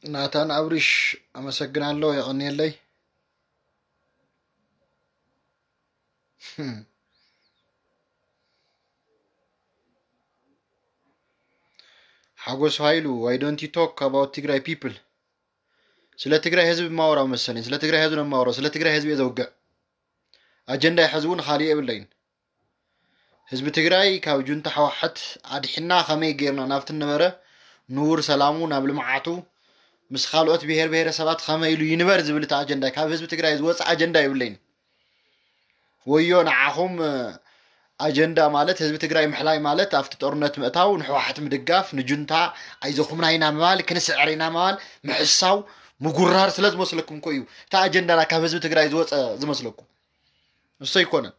ናታን ኣብሪሽ፣ ኣመሰግናለሁ፣ የቐንየለይ። ሓጎስ ሃይሉ፣ why don't you talk about ትግራይ people? ስለ ትግራይ ህዝብ የማወራው መሰለኝ። ስለ ትግራይ ህዝብ ነው የማወራው። ስለ ትግራይ ህዝብ እየ ዘውግዕ። ኣጀንዳ ሕዚ እውን ካሊእ የብለይን። ህዝቢ ትግራይ ካብ ጁንታ ሕወሓት ኣድሒና ከመይ ጌርና ናብቲ ነበረ ንቡር ሰላሙ፣ ናብ ልምዓቱ፣ ምስ ካልኦት ብሄር ብሄረሰባት ከመይ ኢሉ ይንበር ዝብል እቲ ኣጀንዳ፣ ካብ ህዝቢ ትግራይ ዝወፅእ ኣጀንዳ የብለይን። ወዮ ንዓኹም፣ ኣጀንዳ ማለት ህዝቢ ትግራይ ምሕላይ ማለት ኣብቲ ጦርነት ምእታው፣ ንሕወሓት ምድጋፍ፣ ንጁንታ ኣይዘኹምና ኢና ምባል፣ ክንስዕር ኢና ምባል፣ ምሕሳው፣ ምጉራር ስለ ዝመስለኩም እኮ እዩ እቲ ኣጀንዳና ካብ ህዝቢ ትግራይ ዝወፀ ዝመስለኩም። እሱ ኣይኮነን።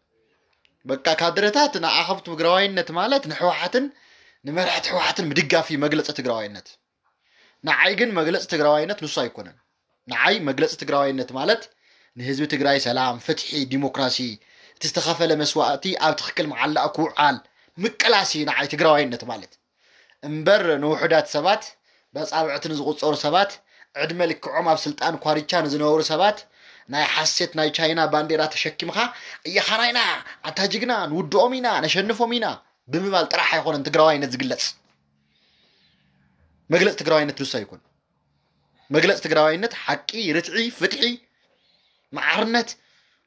በቃ ካድረታት ንኣኸም ትግራዋይነት ማለት ንሕወሓትን ንመራሕቲ ሕወሓትን ምድጋፍ እዩ መግለፂ ትግራዋይነት። ንዓይ ግን መግለፂ ትግራዋይነት ንሱ ኣይኮነን። ንዓይ መግለፂ ትግራዋይነት ማለት ንህዝቢ ትግራይ ሰላም፣ ፍትሒ፣ ዲሞክራሲ፣ እቲ ዝተኸፈለ መስዋእቲ ኣብ ትኽክል መዓላእ ክውዓል ምቅላስ እዩ ንዓይ ትግራዋይነት ማለት። እምበር ንውሑዳት ሰባት፣ በጻብዕቲ ንዝቑጸሩ ሰባት፣ ዕድመ ልክዖም ኣብ ስልጣን ኳርቻ ንዝነበሩ ሰባት ናይ ሓሴት ናይ ቻይና ባንዴራ ተሸኪምካ፣ "እያኻና ኢና፣ ኣንታ ጅግና፣ ንውድኦም ኢና፣ ነሸንፎም ኢና" ብምባል ጥራሕ ኣይኮነን ትግራዋይነት ዝግለጽ። መግለጺ ትግራዋይነት ንሱ ኣይኮን። መግለጺ ትግራዋይነት ሓቂ፣ ርትዒ፣ ፍትሒ፣ መዓርነት፣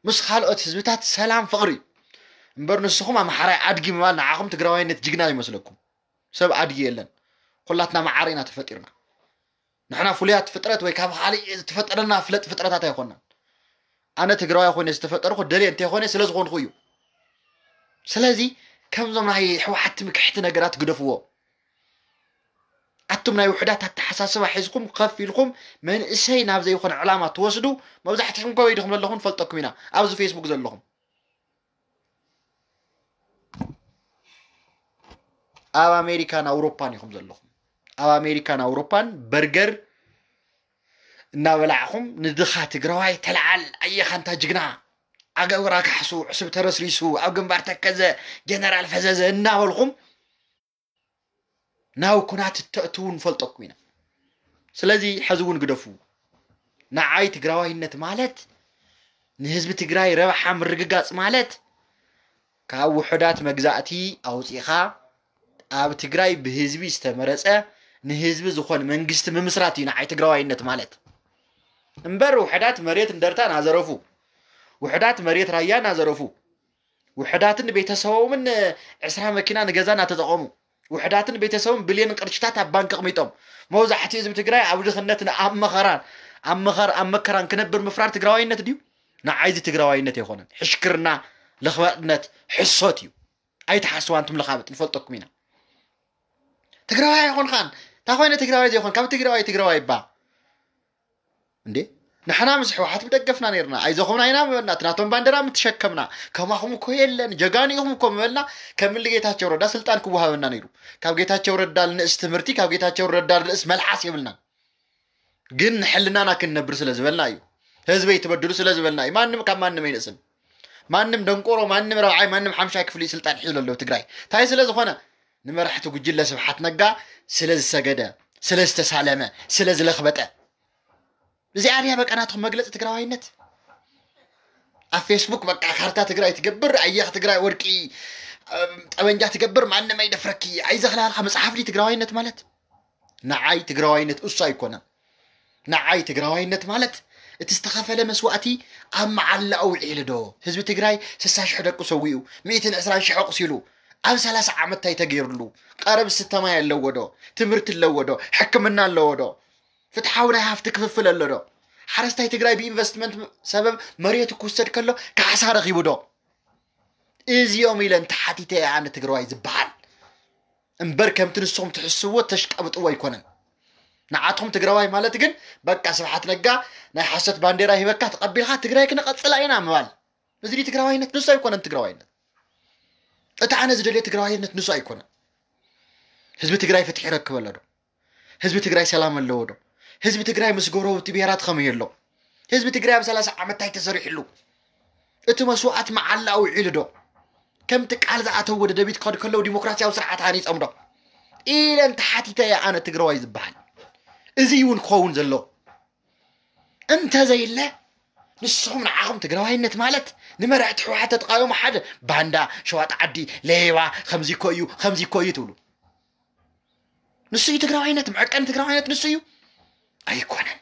ምስ ካልኦት ህዝብታት ሰላም፣ ፍቕሪ እዩ። እምበር ንስኹም ኣምሓራይ ኣድጊ ምባል ንዓኹም ትግራዋይነት ጅግና ይመስለኩም። ሰብ ኣድጊ የለን። ኩላትና መዓር ኢና ተፈጢርና። ንሕና ፍሉያት ፍጥረት ወይ ካብ ካልእ ዝተፈጠረና ፍለጥ ፍጥረታት ኣይኮናን። ኣነ ትግራዋይ ኮይነ ዝተፈጠርኩ ደልየ እንተይኮነ ስለ ዝኾንኩ እዩ። ስለዚ ከምዞም ናይ ሕወሓት ትምክሕቲ ነገራት ግደፍዎ። ኣቱም ናይ ውሕዳት ኣተሓሳስባ ሒዝኩም ከፍ ኢልኩም መንእሰይ ናብ ዘይኮነ ዕላማ ትወስዱ መብዛሕትኹም ከበይ ዲኹም ዘለኹም ንፈልጠኩም ኢና። ኣብዚ ፌስቡክ ዘለኹም ኣብ ኣሜሪካን ኣውሮፓን ኢኹም ዘለኹም። ኣብ ኣሜሪካን ኣውሮፓን በርገር እናበላዕኹም ንድኻ ትግራዋይ ተለዓል፣ ኣየኻ እንታ ጅግና፣ ኣገብራ ካሕሱ፣ ዕሱብ ተረስሪሱ፣ ኣብ ግንባር ተከዘ፣ ጀነራል ፈዘዘ እናበልኹም ናብ ኩናት እተእትዉ ንፈልጠኩም ኢና። ስለዚ ሕዚ እውን ግደፉ። ንዓይ ትግራዋይነት ማለት ንህዝቢ ትግራይ ረብሓ ምርግጋፅ ማለት ካብ ውሑዳት መግዛእቲ ኣውፂኻ ኣብ ትግራይ ብህዝቢ ዝተመረፀ ንህዝቢ ዝኾን መንግስቲ ምምስራት እዩ ንዓይ ትግራዋይነት ማለት። እምበር ውሑዳት መሬት እንደርታ ናዘረፉ፣ ውሑዳት መሬት ራያ ናዘረፉ፣ ውሕዳትን ቤተሰቦምን ዕስራ መኪና ንገዛ እናተጠቐሙ፣ ውሕዳትን ቤተሰቦም ብልዮን ቅርሽታት ኣብ ባንክ ኣቕሚጦም፣ መብዛሕትኡ ህዝቢ ትግራይ ኣብ ድኽነትን ኣብ መኸራን፣ ኣብ መኸር-፣ ኣብ መከራን ክነብር ምፍራድ ትግራዋይነት ድዩ? ንዓይዚ ትግራዋይነት ኣይኮነን። ሕሽክርና፣ ለኽባጥነት፣ ሕሶት እዩ። ኣይትሓስዋ፣ ኣንቱም ለኻብጥ፣ ንፈልጠኩም ኢና። ትግራዋይ ኣይኮንካን። እንታይ ኮይነ ትግራዋይ ዘይኮን? ካብ ትግራዋይ ትግራዋይ እባ። እንዴ፣ ንሕና ምስ ሕወሓት ምደገፍና ነይርና። ኣይዘኹምና ኢና ምበልና። እቲ ናቶም ባንዴራ ምትሸከምና። ከማኹም እኮ የለን፣ ጀጋኑ ኢኹም እኮ ምበልና። ከም እሊ ጌታቸው ረዳ ስልጣን ክወሃበና ነይሩ። ካብ ጌታቸው ረዳ ልንእስ ትምህርቲ፣ ካብ ጌታቸው ረዳ ልንእስ መልሓስ የብልናን። ግን ንሕልናና ክንነብር ስለ ዝበልና እዩ። ህዝበይ ትበድሉ ስለ ዝበልና እዩ። ማንም ካብ ማንም ኣይንእስን። ማንም ደንቆሮ፣ ማንም ረብዓይ፣ ማንም ሓምሻይ ክፍሊ ስልጣን ሒዙ ኣሎ ትግራይ። እንታይ ስለ ዝኾነ? ንመራሕቲ ጉጅለ ስብሓት ነጋ ስለ ዝሰገደ፣ ስለ ዝተሳለመ፣ ስለ ዝለኽበጠ። እዚኣ ድያ በቃ ናትኩም መግለፂ ትግራዋይነት? ኣብ ፌስቡክ በቃ ካርታ ትግራይ ትገብር፣ ኣየኽ ትግራይ ወርቂ፣ እም፣ ጠበንጃ ትገብር፣ ማንም ኣይደፍረኪ፣ ኣይዘኽላልካ መፅሓፍ ድዩ ትግራዋይነት ማለት? ንዓይ ትግራዋይነት እሱ ኣይኮነን። ንዓይ ትግራዋይነት ማለት እቲ ዝተኸፈለ መስዋእቲ ኣብ መዓላ ኣውዒሉ ዶ? ህዝቢ ትግራይ ስሳ ሽሕ ደቁ ሰዊኡ፣ ሚእትን ዕስራን ሽሕ ኣቑሲሉ፣ ኣብ ሰላሳ ዓመት እንታይ ተገይሩሉ? ቀረብ ዝስተ ማይ ኣለዎ ዶ? ትምህርቲ ኣለዎ ዶ? ሕክምና ኣለዎ ዶ? ፍትሓዊ ናይ ሃፍቲ ክፍፍል ኣሎ ዶ? ሓረስታይ ትግራይ ብኢንቨስትመንት ሰበብ መሬቱ ክውሰድ ከሎ ካሕሳ ረኺቡ ዶ? እዚኦም ኢለ እንተሓቲተ እየ ኣነ ትግራዋይ ዝበሃል። እምበር ከምቲ ንስኹም ትሕስብዎ ተሽቀብጥዎ ኣይኮነን። ንዓትኹም ትግራዋይ ማለት ግን በቃ ስብሓት ነጋ ናይ ሓሶት ባንዴራ ሂበካ ተቐቢልካ ትግራይ ክነቐፅላ ኢና ምባል። እዚ ድዩ ትግራዋይነት? ንሱ ኣይኮነን ትግራዋይነት። እቲ ኣነ ዝደልዮ ትግራዋይነት ንሱ ኣይኮነን። ህዝቢ ትግራይ ፍትሒ ይረክብ ኣሎ ዶ? ህዝቢ ትግራይ ሰላም ኣለዎ ዶ? ህዝቢ ትግራይ ምስ ጎረብቲ ብሄራት ከመይ ኣሎ? ህዝቢ ትግራይ ኣብ ሰላሳ ዓመት እንታይ ተሰሪሕሉ? እቲ መስዋእት መዓላ ኣውዒሉ ዶ? ከምቲ ቃል ዝኣተዎ ደደቢት ክኸዱ ከለዉ ዲሞክራሲያዊ ስርዓት ሃኒፆም ዶ? ኢለ እንተሓቲተ እየ ኣነ ትግራዋይ ዝበሃል። እዚ እውን ክኸውን ዘሎ እንተዘይለ ንስኹም ንዓኹም ትግራዋይነት ማለት ንመራሕቲ ህወሓት ተተቃወሙ ሓደ ባንዳ ሸዋጥ ዓዲ ሌባ ከምዚ እኮ እዩ ከምዚ እኮ እዩ ትብሉ። ንሱ እዩ ትግራዋይነት፣ መዐቀኒ ትግራዋይነት ንሱ እዩ። ኣይኮነን፣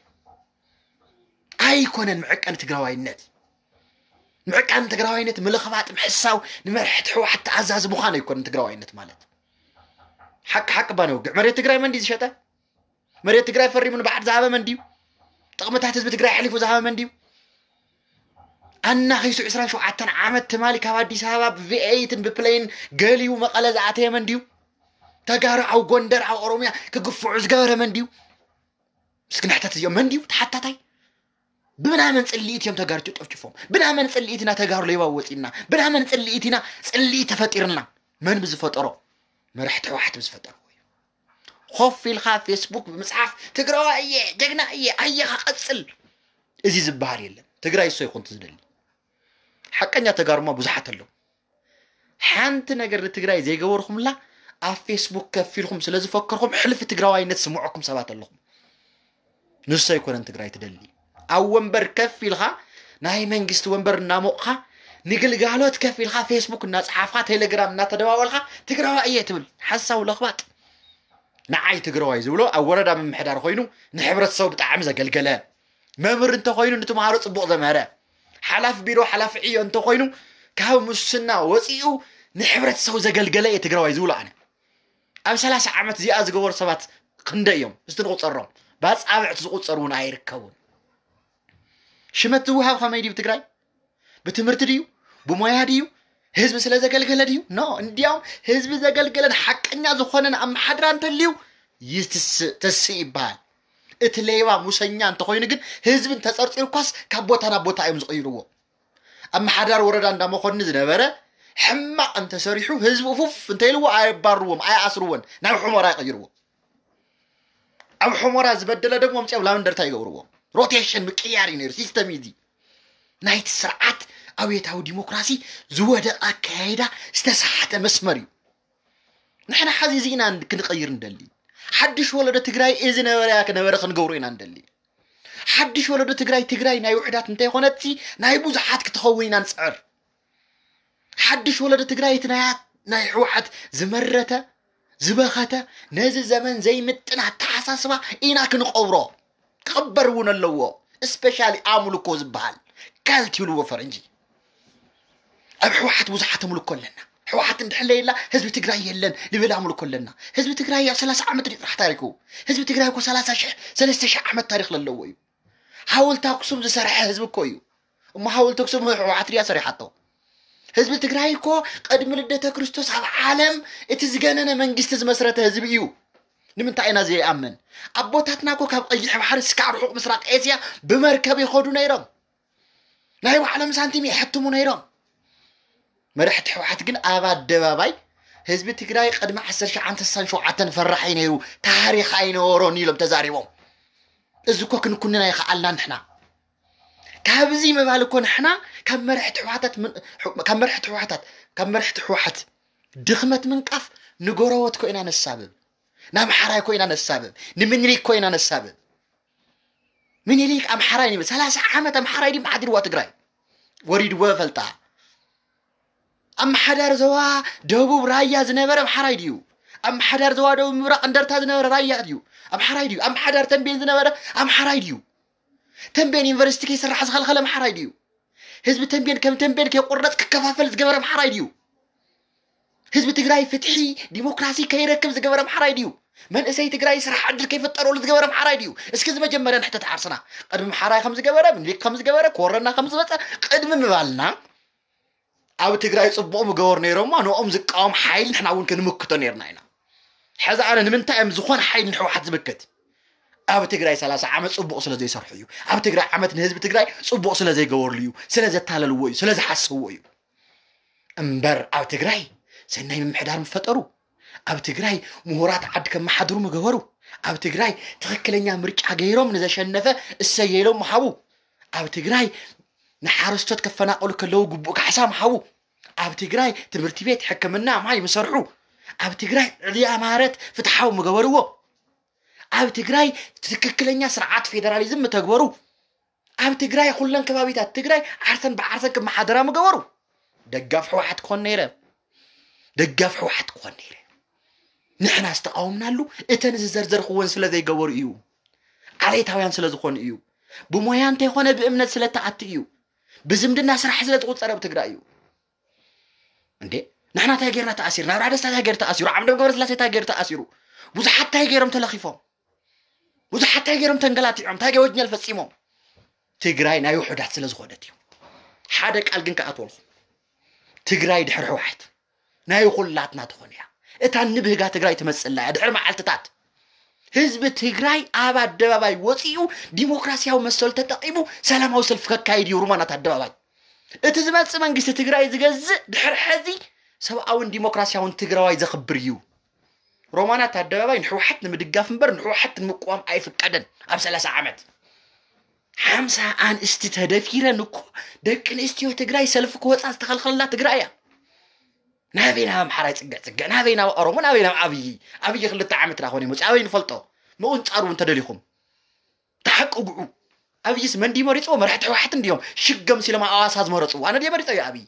ኣይኮነን መዐቀኒ ትግራዋይነት። መዐቀኒ ትግራዋይነት ምልኽባጥ፣ ምሕሳው፣ ንመራሕቲ ህወሓት ተኣዛዚ ምዃን ኣይኮነን ትግራዋይነት ማለት። ሓቂ ሓቂ ባነውግዕ መሬት ትግራይ መን ድዩ ዝሸጠ? መሬት ትግራይ ፈሪሙ ንባዕድ ዝሃበ መን ድዩ? ጥቕምታት ህዝቢ ትግራይ ኣሕሊፉ ዝሃበ መን ድዩ? ኣናኺሱ ዕስራን ሸውዓተን ዓመት ትማሊ ካብ ኣዲስ ኣበባ ብቪኤይትን ብፕሌን ገሊዩ መቐለ ዝኣተየ መን ድዩ? ተጋሩ ኣብ ጎንደር ኣብ ኦሮምያ ክግፍዑ ዝገበረ መን ድዩ? እስኪ ንሕተት፣ እዚኦም መን ድዩ ተሓታታይ? ብምናመን ጽልኢት እዮም ተጋሩ ጨፍጭፎም? ብናመን ጽልኢት ኢና ተጋሩ ሌባ ወጺና? ብናመን ጽልኢት ኢና ጽልኢት ተፈጢርና? መን ብዝፈጠሮ? መራሕቲ ህወሓት ብዝፈጠርዎ እዩ። ኮፍ ኢልካ ፌስቡክ ብምጽሓፍ ትግራዋይ እየ ጀግና እየ ኣየኻ ቀጽል። እዚ ዝበሃል የለን። ትግራይ እሶ ይኹን ትዝደሊ ሓቀኛ ተጋሩማ ብዙሓት ኣለዉ። ሓንቲ ነገር ንትግራይ ዘይገበርኩምላ ኣብ ፌስቡክ ከፊልኩም ስለ ዝፈከርኩም ሕልፊ ትግራዋይነት ስምዐኩም ሰባት ኣለኹም። ንሱ ኣይኮነን ትግራይ ትደሊ። ኣብ ወንበር ከፍ ኢልካ ናይ መንግስቲ ወንበር እናሞቕካ ንግልጋሎት ከፍ ኢልካ ፌስቡክ እናፀሓፍካ ቴሌግራም እናተደዋወልካ ትግራዋይ እየ ትብል ሓሳዊ ለኽባጥ። ንዓይ ትግራዋይ ዝብሎ ኣብ ወረዳ ምምሕዳር ኮይኑ ንሕብረተሰቡ ብጣዕሚ ዘገልገለ መምህር እንተኮይኑ ንተምሃሮ ፅቡቕ ዘምሀረ ሓላፊ ቢሮ ሓላፊ ዕዮ እንተኮይኑ ካብ ሙስና ወፂኡ ንሕብረተሰቡ ዘገልገለ እየ ትግራዋይ ዝብሎ ኣነ። ኣብ ሰላሳ ዓመት እዚኣ ዝገበሩ ሰባት ክንደይ እዮም? እስቲ ንቁፀሮም። ብኣፃብዕቲ ዝቁፀሩ እውን ኣይርከቡን። ሽመት ዝውሃብ ከመይ ድዩ ትግራይ? ብትምህርቲ ድዩ? ብሞያ ድዩ? ህዝቢ ስለ ዘገልገለ ድዩ? ኖ። እንዲያውም ህዝቢ ዘገልገለን ሓቀኛ ዝኾነን ኣመሓድራ እንተልዩ ይትስእ ተስእ ይበሃል። እቲ ሌባ ሙሰኛ እንተኾይኑ ግን ህዝቢ እንተፀርፂርኳስ ካብ ቦታ ናብ ቦታ እዮም ዝቕይርዎ። ኣመሓዳሪ ወረዳ እንዳመኮኒ ዝነበረ ሕማቕ እንተሰሪሑ ህዝቢ ፉፍ እንተይልዎ ኣየባርዎም ኣየኣስርዎን ናብ ሑመራ ይቕይርዎ። ኣብ ሑመራ ዝበደለ ደግሞ ኣምፅኦም ላብ እንደርታ ይገብርዎ። ሮቴሽን ምቅያር እዩ ነይሩ። ሲስተም እዩ እዚ። ናይቲ ስርዓት ኣብዮታዊ ዲሞክራሲ ዝወደቐ ኣካያይዳ ዝተሰሓተ መስመር እዩ። ንሕና ሓዚ እዚ ኢና ክንቐይር እንደሊ። ሓድሽ ወለዶ ትግራይ እዚ ነበረያ ክነበረ ክንገብሮ ኢና እንደሊ። ሓድሽ ወለዶ ትግራይ ትግራይ ናይ ውሕዳት እንተይኮነትሲ ናይ ብዙሓት ክትኸውን ኢና ንፅዕር። ሓድሽ ወለዶ ትግራይ እቲ ናይ ናይ ህወሓት ዝመረተ ዝበኸተ ነዚ ዘመን ዘይምጥን ኣተሓሳስባ ኢና ክንቐብሮ። ክቕበር እውን ኣለዎ። ስፔሻሊ ኣምልኮ ዝበሃል ካልት ይብልዎ ፈረንጂ። ኣብ ህወሓት ብዙሓት ኣምልኮ ኣለና። ህወሓት እንድሕለየላ ህዝቢ ትግራይ የለን ልብል ኣምልኮ ኣለና። ህዝቢ ትግራይ ኣብ ሰላሳ ዓመት ድዩ ጥራሕ ታሪኩ? ህዝቢ ትግራይ እኮ ሰላሳ ሽሕ ሰለስተ ሽሕ ዓመት ታሪክ ለለዎ እዩ። ሓወልቲ ኣክሱም ዝሰርሐ ህዝቢ እኮ እዩ። እሞ ሓወልቲ ኣክሱም ህወሓት ድያ ሰሪሓቶ? ህዝቢ ትግራይ እኮ ቅድሚ ልደተ ክርስቶስ ኣብ ዓለም እቲ ዝገነነ መንግስቲ ዝመስረተ ህዝቢ እዩ። ንምንታይ ኢና ዘይኣምን? ኣቦታትና እኮ ካብ ቀይሕ ባሕሪ እስካብ ርሑቕ ምስራቅ ኤስያ ብመርከብ ይኸዱ ነይሮም። ናይ ባዕሎም ሳንቲም ይሕትሙ ነይሮም። መራሕቲ ህወሓት ግን ኣብ ኣደባባይ ህዝቢ ትግራይ ቅድሚ ዓሰርተ ሸዓተ ስሳን ሸውዓተን ፈራሕ እዩ ነይሩ፣ ታሪክ ኣይነበሮን ኢሎም ተዛሪቦም። እዚ እኮ ክንኩንን ኣይኸኣልና ንሕና። ካብዚ ምባል እኮ ንሕና ካብ መራሕቲ ህወሓታት ምን- ካብ መራሕቲ ህወሓታት ካብ መራሕቲ ህወሓት ድኽመት ምንቃፍ ንጎረወት ኮ ኢና ነሳብብ፣ ናብ ሓራይ ኮ ኢና ነሳብብ፣ ንምኒልክ ኮ ኢና ነሳብብ። ምኒልክ ኣምሓራይ ንብል ሰላሳ ዓመት ኣምሓራይ ድዩ ሓዲርዋ ትግራይ ወሪድዎ ፈልጣ። ኣመሓዳር ዞባ ደቡብ ራያ ዝነበረ ኣምሓራይ ድዩ? ኣመሓዳር ዞባ ደቡብ ምብራቕ እንደርታ ዝነበረ ራያ ድዩ? ኣምሓራይ ድዩ? ኣመሓዳር ተንቤን ዝነበረ ኣምሓራይ ድዩ? ተንቤን ዩኒቨርሲቲ ከይስራሕ ዝኸልኸለ ኣምሓራይ ድዩ? ህዝቢ ተንቤን ከም ተንቤን ከይቁረፅ ክከፋፈል ዝገበረ ኣምሓራይ ድዩ? ህዝቢ ትግራይ ፍትሒ ዲሞክራሲ ከይረክብ ዝገበረ ኣምሓራይ ድዩ? መንእሰይ ትግራይ ስራሕ ዕድል ከይፈጠረሉ ዝገበረ ኣምሓራይ ድዩ? እስኪ እዚ መጀመርያ ንሕተት ዓርስና። ቅድሚ ኣምሓራይ ከም ዝገበረ፣ ምኒልክ ከም ዝገበረ፣ ኮረና ከም ዝመፀ ቅድሚ ምባልና ኣብ ትግራይ ፅቡቕ ምገበሩ ነይሮማ ንኦም ዝቃወም ሓይሊ ንሕና እውን ክንምክቶ ነይርና ኢና። ሕዚ ኣነ ንምንታይ እዮም ዝኾነ ሓይሊ ንሕወሓት ዝምክት? ኣብ ትግራይ ሰላሳ ዓመት ፅቡቕ ስለ ዘይሰርሑ እዩ። ኣብ ትግራይ ዓመት ንህዝቢ ትግራይ ፅቡቕ ስለ ዘይገበርሉ እዩ፣ ስለ ዘታለልዎ እዩ፣ ስለ ዝሓሰብዎ እዩ። እምበር ኣብ ትግራይ ሰናይ ምምሕዳር ምፈጠሩ፣ ኣብ ትግራይ ምሁራት ዓዲ ከመሓድሩ ምገበሩ፣ ኣብ ትግራይ ትኽክለኛ ምርጫ ገይሮም ንዘሸነፈ እሰየሎም ምሃቡ፣ ኣብ ትግራይ ንሓረስቶት ከፈናቐሉ ከለዉ ግቡእ ካሕሳ ምሃቡ፣ ኣብ ትግራይ ትምህርቲ ቤት፣ ሕክምና፣ ማይ ምሰርሑ፣ ኣብ ትግራይ ዕልያ ማረት ፍትሓዊ ምገበርዎ፣ ኣብ ትግራይ ትክክለኛ ስርዓት ፌደራሊዝም ምተግበሩ፣ ኣብ ትግራይ ኩለን ከባቢታት ትግራይ ዓርሰን ብዓርሰን ክመሓደራ ምገበሩ፣ ደጋፍ ህወሓት ክኾን ነይረ። ደጋፍ ህወሓት ክኾን ነይረ። ንሕና ዝተቃወምናሉ እተን ዝዘርዘርክወን ስለ ዘይገበሩ እዩ። ዓሌታውያን ስለ ዝኾኑ እዩ። ብሞያ እንተይኮነ ብእምነት ስለ ተኣቲ እዩ። ብዝምድና ስራሕ ስለ ዝቁፀር ኣብ ትግራይ እዩ። እንዴ ንሕና እንታይ ገይርና ተኣሲርና? ኣብርሃ ደስታ እንታይ ገይሩ ተኣሲሩ? ዓምዶም ገብረስላሴ እንታይ ገይሩ ተኣሲሩ? ብዙሓት እንታይ ገይሮም ተለኺፎም? ብዙሓት እንታይ ገይሮም ተንገላቲዖም? እንታይ ገይሮም ወንጀል ፈፂሞም? ትግራይ ናይ ውሑዳት ስለ ዝኾነት እዩ። ሓደ ቃል ግን ክኣትወልኩም። ትግራይ ድሕሪ ህወሓት ናይ ኩላትና ትኾን እያ። እታ ንብህጋ ትግራይ ትመፅላ እያ። ድሕሪ መዓልትታት ህዝቢ ትግራይ ኣብ ኣደባባይ ወፂኡ ዲሞክራሲያዊ መሰሉ ተጠቂሙ ሰላማዊ ሰልፊ ከካይድ እዩ። ሩማናት ኣደባባይ እቲ ዝመፅእ መንግስቲ ትግራይ ዝገዝእ ድሕሪ ሕዚ ሰብኣውን ዲሞክራሲያውን ትግራዋይ ዘኽብር እዩ። ሮማናት ኣደባባይ ንህወሓት ንምድጋፍ እምበር ንህወሓት ንምቅዋም ኣይፍቀደን። ኣብ ሰላሳ ዓመት ሓምሳ ኣንስቲ ተደፊረን እኮ ደቂ ኣንስትዮ ትግራይ ሰልፊ ክወፃ ዝተኸልኸለላ ትግራይ እያ። ናበይ ናብ ኣምሓራይ ፅግዕ ፅግዕ፣ ናበይ ናብ ኦሮሞ፣ ናበይ ናብ ኣብይ። ኣብይ ክልተ ዓመት ዳ ኮነ ይመፅእ ኣበይ ንፈልጦ። ምቁንፃር እውን ተደሊኹም ተሓቅጉዑ። ኣብይስ መን ድዩ መሪፅዎ? መራሕቲ ህወሓት እንዲዮም ሽገም ሲሎም ኣዋሳ ዝመረፅዎ። ኣነ ድየ መሪፀዮ ኣብይ?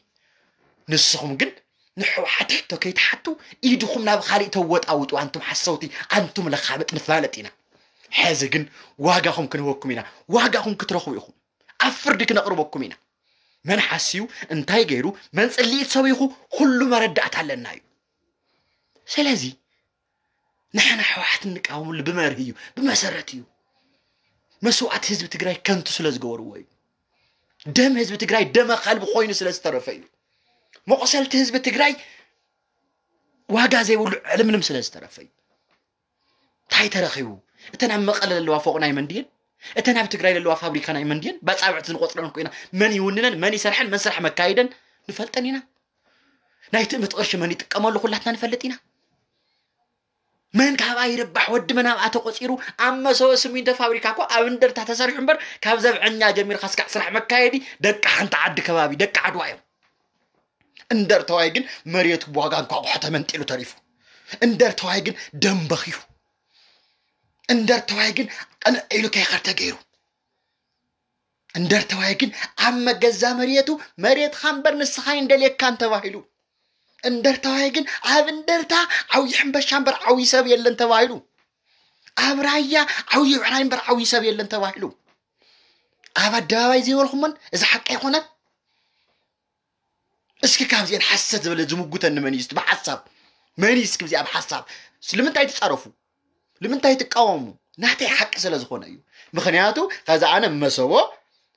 ንስኹም ግን ንሕወሓት ሕቶ ከይትሓቱ ኢድኹም ናብ ካሊእ ተወጣውጡ። ኣንቱም ሓሰውቲ፣ ኣንቱም ለኻብጥ ንፋለጥ ኢና። ሕዚ ግን ዋጋኹም ክንህበኩም ኢና። ዋጋኹም ክትረኽቡ ኢኹም። ኣብ ፍርዲ ክነቕርበኩም ኢና። መን ሓስዩ እንታይ ገይሩ መን ፅልኢት ሰቢኹ ኩሉ መረዳእታ ኣለና እዩ። ስለዚ ንሕና ህወሓት እንቃወምሉ ብመርህ እዩ፣ ብመሰረት እዩ። መስዋእቲ ህዝቢ ትግራይ ከንቱ ስለ ዝገበርዎ እዩ። ደም ህዝቢ ትግራይ ደመ ከልቢ ኮይኑ ስለ ዝተረፈ እዩ። መቑሰልቲ ህዝቢ ትግራይ ዋጋ ዘይብሉ ዕልምልም ስለ ዝተረፈ እዩ። እንታይ ተረኺቡ? እተን ኣብ መቐለ ዘለዋ ፎቕ ናይ መን ድየን? እተን ኣብ ትግራይ ዘለዋ ፋብሪካ ናይ መን ድየን? ባፃብዕቲ ንቆፅረን እኮ ኢና። መን ይውንነን? መን ይሰርሐን? መን ስራሕ መካይደን? ንፈልጠን ኢና። ናይ ትእምት ቅርሺ መን ይጥቀመሉ ኩላትና ንፈልጥ ኢና። መን ካብኣ ይርባሕ? ወዲ መን ኣብኣ ተቆፂሩ? ኣብ መሰቦ ስሚንቶ ፋብሪካ እኮ ኣብ እንደርታ ተሰሪሑ እምበር ካብ ዘብዐኛ ጀሚርካ እስካዕ ስራሕ መካየዲ ደቂ ሓንቲ ዓዲ ከባቢ ደቂ ዓድዋ እዮም። እንደርተዋይ ግን መሬቱ ብዋጋ እንኳቑሖ ተመንጢሉ ተሪፉ። እንደርተዋይ ግን ደም በኽዩ። እንደርተዋይ ግን ቅንዕ ኢሉ ከይኸድ ተገይሩ። እንደርተዋይ ግን ኣብ መገዛ መሬቱ መሬትኻ እምበር ንስኻ ኣይንደልየካን ተባሂሉ። እንደርታዋይ ግን ኣብ እንደርታ ዓብዪ ሕንበሻ እምበር ዓብዪ ሰብ የለን ተባሂሉ። ኣብ ራያ ዓብዪ ብዕራይ እምበር ዓብዪ ሰብ የለን ተባሂሉ። ኣብ ኣደባባይ ዘይበልኩሞን እዚ ሓቂ ኣይኮነን። እስኪ ካብዚአን ሓሰት ዝበለ ዝምጉተኒ መን እዩ? እስቲ ብሓሳብ መን እዩ? እስኪ ብዚኣ ብሓሳብ ስለምንታይ ትፃረፉ? ንምንታይ ትቃወሙ? ናተይ ሓቂ ስለ ዝኾነ እዩ። ምኽንያቱ ከዛ ኣነ መሰቦ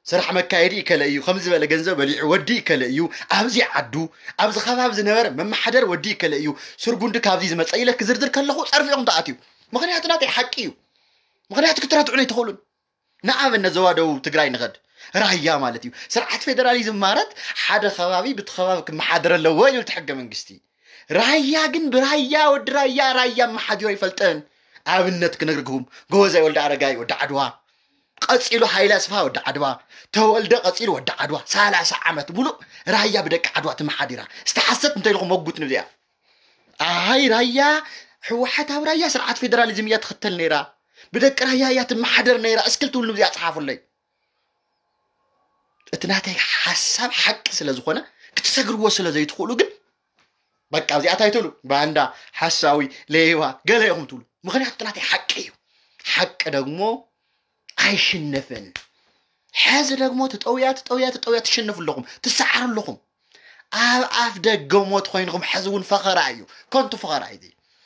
ስራሕ መካየዲ ይከለ እዩ፣ ከም ዝበለ ገንዘብ በሊዑ ወዲ ይከለ እዩ። ኣብዚ ዓዱ ኣብዚ ከባቢ ዝነበረ መመሓደር ወዲ ይከለ እዩ። ስርጉንዲ ካብዚ ዝመፀ ኢለ ክዝርዝር ከለኹ ፀርፊ ኢኹም ተኣትዩ። ምኽንያቱ ናተይ ሓቂ እዩ። ምኽንያቱ ክትረትዑን ኣይትኽእሉን። ንኣብነት ዞባ ደቡብ ትግራይ ንኸድ ራያ ማለት እዩ። ስርዓት ፌደራሊዝም ማለት ሓደ ከባቢ ብቲ ከባቢ ክመሓደር ኣለዎ ይብል እቲ ሕገ መንግስቲ። ራያ ግን ብራያ ወዲ ራያ ራያ መሓዲሮ ይፈልጠን። ኣብነት ክነግርኩም ጎበዛይ ወልደ ኣረጋይ ወዲ ዓድዋ፣ ቀፂሉ ሃይለ ኣስፋ ወዲ ዓድዋ፣ ተወልደ ቀፂሉ ወዲ ዓድዋ። ሰላሳ ዓመት ሙሉእ ራያ ብደቂ ዓድዋ ትመሓዲራ። ዝተሓሰት እንተኢልኩም መጉት ንብዚኣ። ኣይ ራያ ሕወሓት ኣብ ራያ ስርዓት ፌደራሊዝም እያ ትኽተል ነይራ፣ ብደቂ ራያ እያ ትመሓደር ነይራ እስክል ትብሉ ንብዚኣ ፀሓፉለይ። እቲ ናተይ ሓሳብ ሓቂ ስለ ዝኾነ ክትሰግርዎ ስለ ዘይትኽእሉ ግን በቃ እዚኣ እንታይ ትብሉ? ባንዳ፣ ሓሳዊ፣ ሌባ፣ ገለ ኢኹም ትብሉ። ምኽንያቱ እቲ ናተይ ሓቂ እዩ። ሓቂ ደግሞ ኣይሽነፍን። ሕዚ ደግሞ ትጠውያ ትጠውያ ትጠውያ ትሸነፉ ኣለኹም፣ ትሰዓሩ ኣለኹም። ኣብ ኣፍ ደገ ሞት ኮይንኹም ሕዚ እውን ፈኸራ እዩ። ከንቱ ፈኸራ እዩ።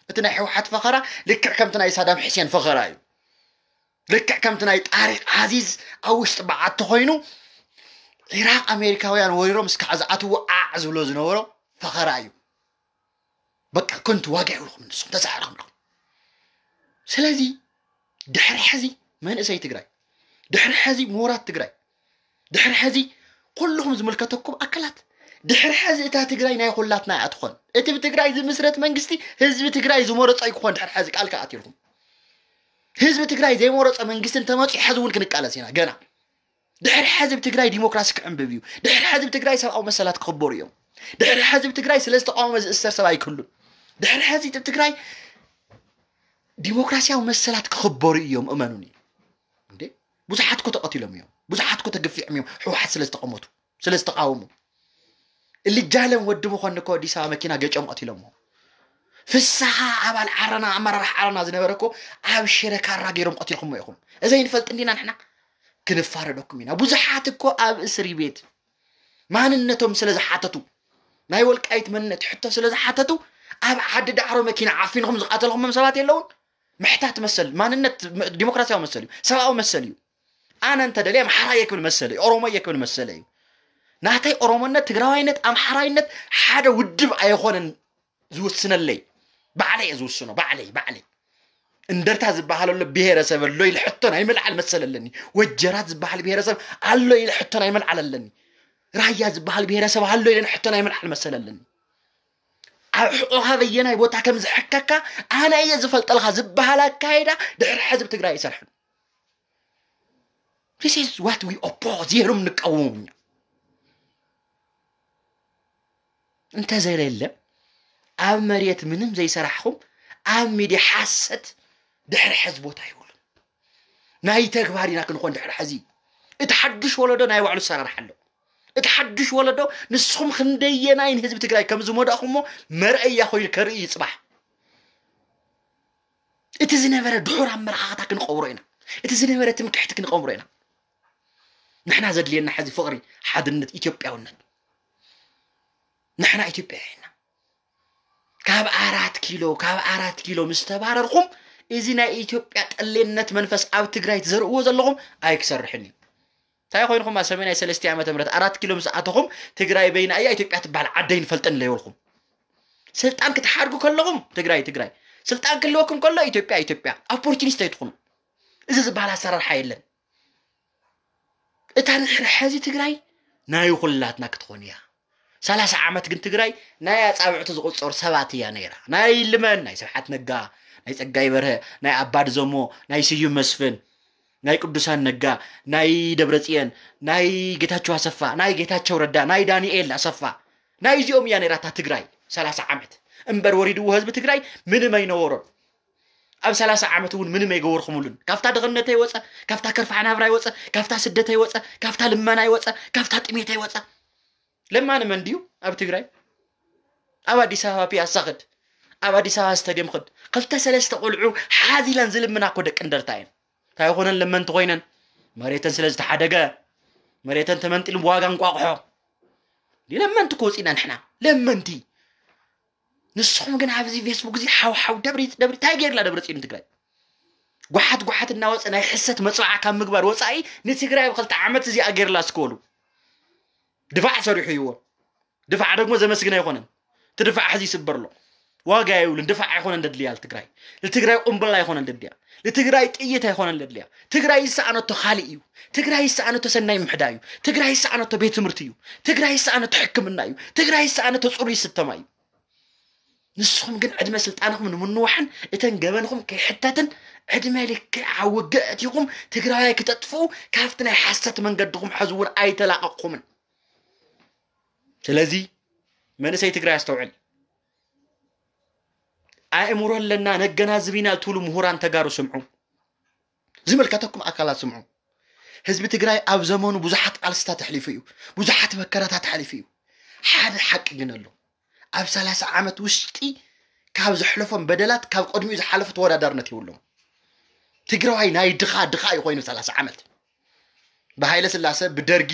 እቲ ናይ ሕወሓት ፈኸራ ልክዕ ከምቲ ናይ ሳዳም ሕሴን ፈኸራ እዩ። ልክዕ ከምቲ ናይ ጣሪቅ ዓዚዝ ኣብ ውሽጢ በዓቲ ኮይኑ ኢራቅ ኣሜሪካውያን ወሪሮም እስካዕ ዝኣትዎ ዓዕ ዝብሎ ዝነበሮ ፈኸራ እዩ። በቃ ከንቱ ዋጋ የብልኩም ንስኹም ተሳዕርኹም ኣለኹም። ስለዚ ድሕሪ ሕዚ መንእሰይ ትግራይ፣ ድሕሪ ሕዚ ምሁራት ትግራይ፣ ድሕሪ ሕዚ ኩልኹም ዝምልከተኩም ኣካላት ድሕሪ ሕዚ እታ ትግራይ ናይ ኩላትና እያ ትኾን። እቲ ብትግራይ ዝምስረት መንግስቲ ህዝቢ ትግራይ ዝመረጾ ኣይክኾን። ድሕሪ ሕዚ ቃል ከኣትልኩም ህዝቢ ትግራይ ዘይመረጾ መንግስቲ እንተመፂኡ ሕዚ እውን ክንቃለስ ኢና። ገና ድሕሪ ሕዚ ብትግራይ ዲሞክራሲ ክዕንብብ እዩ። ድሕሪ ሕዚ ብትግራይ ሰብኣዊ መሰላት ክኽበሩ እዮም። ድሕሪ ሕዚ ብትግራይ ስለ ዝተቃወመ ዝእሰር ሰብ ኣይክህሉን። ድሕሪ ሕዚ ብትግራይ ዲሞክራሲያዊ መሰላት ክኽበሩ እዮም፣ እመኑኒ። እንዴ፣ ብዙሓት እኮ ተቐቲሎም እዮም፣ ብዙሓት እኮ ተገፊዖም እዮም፣ ህወሓት ስለ ዝተቐመቱ፣ ስለ ዝተቃወሙ። እልጃለም ወዲ መኮንን እኮ ኣዲስ ኣበባ መኪና ገጮም ቀቲሎምዎ። ፍስሓ ኣባል ዓረና፣ ኣመራርሓ ዓረና ዝነበረ እኮ ኣብ ሽረ ካራ ገይሮም ቀቲልኩሞ ኢኹም። እዚ ኣይንፈልጥ እንዲና ንሕና? ክንፋረደኩም ኢና። ብዙሓት እኮ ኣብ እስሪ ቤት ማንነቶም ስለ ዝሓተቱ፣ ናይ ወልቃይት መንነት ሕቶ ስለ ዝሓተቱ፣ ኣብ ዓዲ ዳዕሮ መኪና ዓፊንኹም ዝቐተልኩሞም ሰባት የለውን? ምሕታት መሰል፣ ማንነት ዲሞክራሲያዊ መሰል እዩ፣ ሰብኣዊ መሰል እዩ። ኣነ እንተ ደልየ ኣምሓራየ ክብል መሰለ እዩ፣ ኦሮሞየ ክብል መሰለ እዩ። ናተይ ኦሮሞነት፣ ትግራዋይነት፣ ኣምሓራይነት ሓደ ውድብ ኣይኾነን ዝውስነለይ። ባዕለይ እየ ዝውስኖ፣ ባዕለይ፣ ባዕለይ። እንደርታ ዝበሃል ኣሎ ብሄረሰብ ኣሎ ኢለ ሕቶ ናይ ምልዓል መሰል ኣለኒ። ወጀራት ዝበሃል ብሄረሰብ ኣሎ ኢለ ሕቶ ናይ ምልዓል ኣለኒ። ራያ ዝበሃል ብሄረሰብ ኣሎ ኢለ ሕቶ ናይ ምልዓል መሰል ኣለኒ። ኣብ ሕቖኻ በየናይ ቦታ ከም ዝሕከካ ኣነ እየ ዝፈልጠልካ ዝበሃል ኣካይዳ ድሕሪ ሕዚ ኣብ ትግራይ ኣይሰርሕን። This is what we oppose። ይህሉም ንቃወሙ እኛ። እንተዘይለለ ኣብ መሬት ምንም ዘይሰራሕኹም ኣብ ሚድያ ሓሰት ድሕሪ ሕዚ ቦታ ይብሉን። ናይ ተግባር ኢና ክንኾን ድሕሪ ሕዚ። እቲ ሓዱሽ ወለዶ ናይ ባዕሉ ኣሰራርሓ ኣሎ። እቲ ሓዱሽ ወለዶ ንስኹም ክንደየናይ ንህዝቢ ትግራይ ከም ዝመዳእኹሞ መርኣያ ኮይኑ ከርኢ እዩ ጽባሕ። እቲ ዝነበረ ድሑር ኣመለኻኽታ ክንቐብሮ ኢና። እቲ ዝነበረ ትምክሕቲ ክንቐብሮ ኢና። ንሕና ዘድልየና ሕዚ ፍቕሪ፣ ሓድነት፣ ኢትዮጵያውነት። ንሕና ኢትዮጵያ ኢና። ካብ ኣራት ኪሎ፣ ካብ ኣራት ኪሎ ምስ ተባረርኩም እዚ ናይ ኢትዮጵያ ጠሌነት መንፈስ ኣብ ትግራይ ትዘርእዎ ዘለኹም ኣይክሰርሕን እዩ። እንታይ ኮይንኩም ኣብ ሰሜናይ ሰለስተ ዓመተ ምህረት ኣራት ኪሎ ምስ ኣተኹም ትግራይ በይና እያ፣ ኢትዮጵያ ትበሃል ዓደይ ንፈልጠን ለይበልኩም። ስልጣን ክትሓድጉ ከለኹም ትግራይ ትግራይ፣ ስልጣን ክህልወኩም ከሎ ኢትዮጵያ ኢትዮጵያ። ኦፖርቹኒስት ኣይትኹኑ። እዚ ዝበሃል ኣሰራርሓ የለን። እታ ድሕሪ ሕዚ ትግራይ ናይ ኩላትና ክትኾን እያ። ሰላሳ ዓመት ግን ትግራይ ናይ ኣጻብዕቲ ዝቑጸሩ ሰባት እያ ነይራ። ናይ ልመን፣ ናይ ስብሓት ነጋ፣ ናይ ጸጋይ በርሀ፣ ናይ ኣባዲ ዘሞ፣ ናይ ስዩም መስፍን፣ ናይ ቅዱሳን ነጋ፣ ናይ ደብረጽዮን፣ ናይ ጌታቸው ኣሰፋ፣ ናይ ጌታቸው ረዳ፣ ናይ ዳንኤል ኣሰፋ፣ ናይ እዚኦም እያ ነይራ እታ ትግራይ ሰላሳ ዓመት። እምበር ወሪድዎ ህዝቢ ትግራይ ምንም ኣይነበሮን። ኣብ ሰላሳ ዓመት እውን ምንም ኣይገበርኩምሉን። ካብታ ድኽነት ኣይወፀ፣ ካብታ ከርፋሕ ናብራ ኣይወፀ፣ ካብታ ስደት ኣይወፀ፣ ካብታ ልመና ኣይወፀ፣ ካብታ ጥሜት ኣይወፀ። ለማኒ መን ድዩ ኣብ ትግራይ? ኣብ ኣዲስ ኣበባ ፒያሳ ኽድ፣ ኣብ ኣዲስ ኣበባ ስታዲየም ኽድ፣ ክልተ ሰለስተ ቆልዑ ሓዚለን ዝልምና እኮ ደቂ እንደርታ እየን። እንታይ ይኾነን ለመንቲ ኮይነን? መሬተን ስለ ዝተሓደገ፣ መሬተን ተመንጢሉ ብዋጋ እንቋቑሖ። ለመንቲ እኮ ወፂና ንሕና ለመንቲ። ንስኹም ግን ኣብዚ ፌስቡክ እዚ ሓው ሓው ደብሪ ደብሪ እንታይ ገይርላ ደብረ ጽዮን ትግራይ? ጓሓት ጓሓት እናወፀ ናይ ሕሰት መፅዋዓ ካብ ምግባር ወፃኢ ንትግራይ ኣብ ክልተ ዓመት እዚኣ ገይርላ እስከ በሉ። ድፋዕ ሰሪሑ ይዎ። ድፋዕ ደግሞ ዘመስግን ኣይኮነን። እቲ ድፋዕ ሕዚ ይስበር ኣሎ። ዋጋ የብሉን። ድፋዕ ኣይኮነን ደድልያ ንትግራይ። ንትግራይ ቁምብላ ኣይኮነን ደድልያ። ንትግራይ ጥይት ኣይኮነን ደድልያ። ትግራይ ዝሰኣነቶ ካልእ እዩ። ትግራይ ዝሰኣነቶ ሰናይ ምሕዳ እዩ። ትግራይ ዝሰኣነቶ ቤት ትምህርቲ እዩ። ትግራይ ዝሰኣነቶ ሕክምና እዩ። ትግራይ ዝሰኣነቶ ፅሩይ ስተማ እዩ። ንስኹም ግን ዕድመ ስልጣንኹም ንምንዋሕን እተን ገበንኹም ከይሕተትን ዕድመ ልክዕ ኣብ ውግእ ኣእቲኹም ትግራዋይ ክተጥፍኡ ካብቲ ናይ ሓሰት መንገድኹም ሕዚ እውን ኣይተላቐቕኩምን። ስለዚ መንእሰይ ትግራይ ኣስተውዕል። ኣእምሮ ኣለና ነገናዝብ ኢና ትብሉ ምሁራን ተጋሩ ስምዑ። ዝምልከተኩም ኣካላት ስምዑ። ህዝቢ ትግራይ ኣብ ዘመኑ ብዙሓት ቃልስታት ኣሕሊፉ እዩ። ብዙሓት መከራታት ኣሕሊፉ እዩ። ሓደ ሓቂ ግን ኣሎ። ኣብ ሰላሳ ዓመት ውሽጢ ካብ ዘሕለፎም በደላት ካብ ቅድሚኡ ዝሓለፈ ተወዳዳርነት የብሎም። ትግራዋይ ናይ ድኻ ድኻ እዩ ኮይኑ ሰላሳ ዓመት። ብሃይለ ስላሰ፣ ብደርጊ፣